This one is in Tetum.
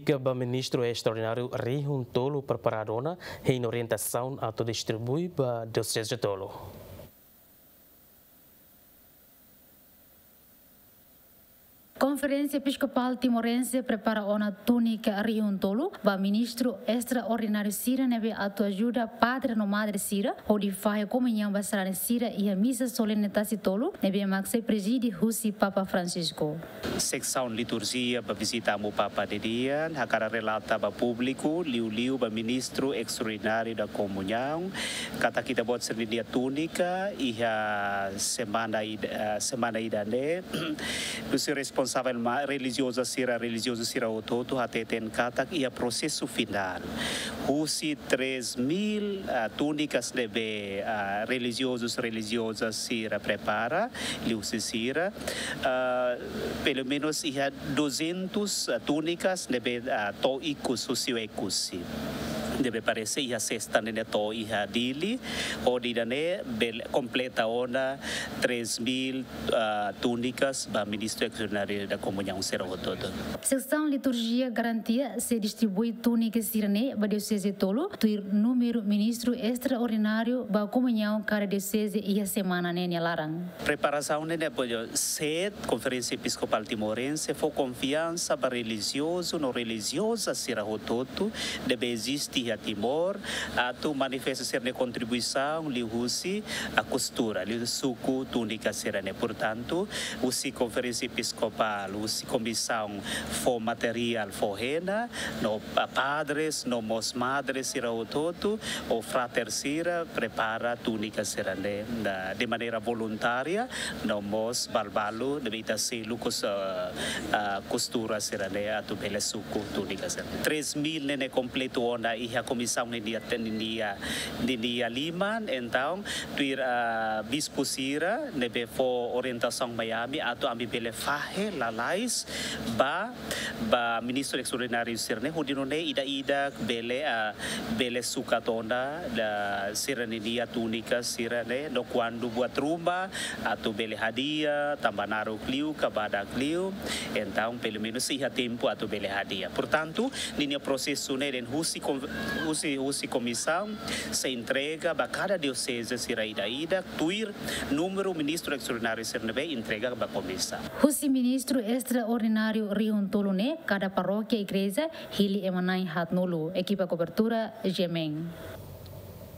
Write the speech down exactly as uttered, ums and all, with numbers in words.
Ke ba Ministru Estraordináriu rihun tolu preparadu ona, hein orientasaun atu distribui ba dioseze tolu. Konferénsia Episkopál Timorense prepara ona túnika rihun tolu ba ministru estraordináriu sira ne'ebé atu ajuda padre no madre sira hodi fahe komuñaun ba sarani sira iha misa solene Tasi Tolu ne'ebé mak sei prezide husi Papa Francisco. Seksaun liturjia ba vizita Amu Papa nian, hakarak relata ba públiku, liuliu ba ministru estraordináriu da komuñaun, katak ita-boot sira-nia túnika iha semana ida, eh, semana ida-ne'e, husi responsavel ma-, relijioza sira, relijiozu sira hotu-hotu hateten katak iha prosesu finál. Husi três mil, ah, túnikas ne'ebé, ah, relijiozus, relijiozas sira prepara, liuhusi sira, ah, pelumenus iha duzentus, ah, túnikas ne'ebé, ah, to'o ikus, husi Oekusi. Ne'ebé parese iha sesta ne'e to'o iha Dili, hodi ida-ne'e bele kompleta ona três mil, ah, túnikas ba ministru estraordináriu da komuñaun sira hotu-hotu. Seksaun liturjia garantia sei distribui túnika sira-ne'e ba dioseze tolu, tuir númeru ministru estraordináriu ba komuñaun kada dioseze iha semana ne'e nia laran. Preparasaun ne'e ne'e apoiu set Konferénsia Episkopál Timorense fó konfiansa ba relijiozu no relijioza sira hotu-hotu ne'ebé eziste iha Timor, atu manifesta sira-nia kontribuisaun liuhusi, ah, kostura, liuhusi suku túnika sira-ne'e. Portantu, husi Konferénsia Episkopál, husi komisaun fó materiál, fó hena, no pa-, padres, no mós madres sira hotu-hotu, ou frater sira, prepara túnika sira-ne'e, na, de maneira voluntária, no mós balbalu, ne'ebé ita selu kos-, ah, ah, kostura sira-ne'e, atu bele suku túnika sira. Três mil ne'e ne'e kompletu ona iha komisaun ninia, ninia, ninia liman, entaun, tuir, ah, bispu sira, ne'ebé fó orientasaun mai ami, atu ami bele fahe lalais ba, ba ministru estraordináriu sira-ne'e, hodi nune'e ida-idak bele, ah, bele sukat ona, da sira-ninia túnika sira-ne'e, no kuandu buat ruma, atu bele hadi'a, tanba naruk liu, ka badak liu, entaun, pelumenus iha tempu atu bele hadi'a. Portantu, ninia prosesu ne'e dehan husi kon-, husi, husi komisaun sei entrega ba kada dioseze sira ida-idak, tuir númeru ministru estraordináriu sira ne'ebé entrega ba komisaun. Husi ministru estraordináriu rihun tolu ne'e, kada parókia igreja hili ema na'in haatnulu. Ekipa kobertura, G M N.